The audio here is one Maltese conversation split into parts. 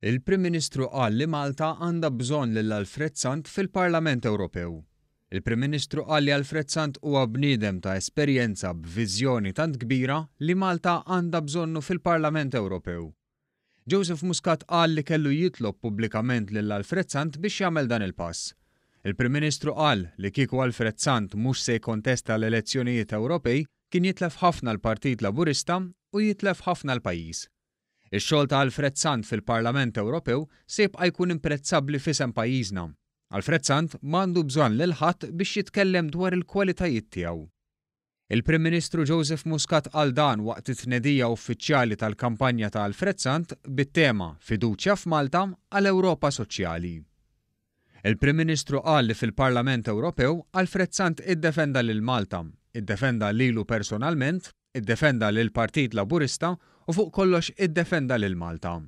Il-Prim Ministru qal li Malta għandha bżonn lil Alfred Sant fil-Parlament Ewropew. Il-Prim Ministru qal li Alfred Sant huwa bniedem ta' esperjenza b'viżjoni tant kbira li Malta għandha bżonnu fil-Parlament Ewropew. Joseph Muscat qal li kellu jitlob pubblikament lil Alfred Sant biex jagħmel dan il-pass. Il-Prim Ministru qal li kieku Alfred Sant mhux se jikkontesta l-elezzjonijiet Ewropej kien jitlef ħafna l-Partit Laburista u jitlef ħafna l-pajjiż. Ix-xogħol ta' Alfred Sant fil-Parlament Ewropew se jibqa' jkun imprezzabbli f'isem pajjiżna. Alfred Sant m'għandu bżonn lil ħadd biex jitkellem dwar il-kwalitajiet tiegħu. Il-Prim Ministru Joseph Muscat qal dan waqt it-tnedija uffiċjali tal-kampanja ta' Alfred Sant bit-tema 'Fiduċja f'Malta għal Ewropa Soċjali'. Il-Prim Ministru qal li fil-Parlament Ewropew Alfred Sant iddefenda lil Malta, iddefenda lilu personalment, iddefenda lill-Partit Laburista u fuq kollox iddefenda lil Malta.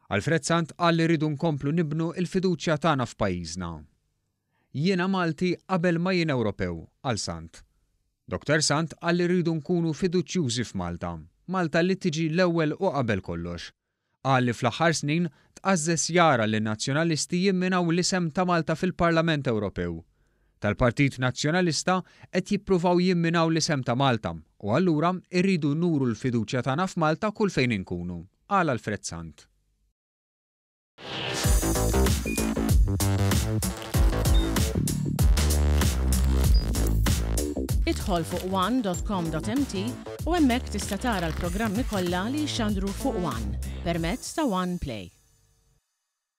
Alfred Sant qal li rridu nkomplu nibnu l-fiduċja tagħna f'pajjiżna. Jiena Malti qabel ma jien Ewropew, qal Sant. Dottor Sant qal li rridu nkunu fiduċjużi f'Malta, Malta li tiġi l-ewwel u qabel kollox. Qal li fl-aħħar snin tqażżeż jara lin-Nazzjonalisti jimminaw l-isem ta' Malta fil-Parlament Ewropew. Tal-Partit Nazzjonalista qed jippruvaw jimminaw l-isem ta' Malta u allura rridu nuru l-fiduċja tagħna f'Malta kull fejn inkunu, qal Alfred Sant. Idħol fuq one.com.mt u hemmhekk tista' tara l-programmi kollha li jixxandru fuq One permezz ta' One Play.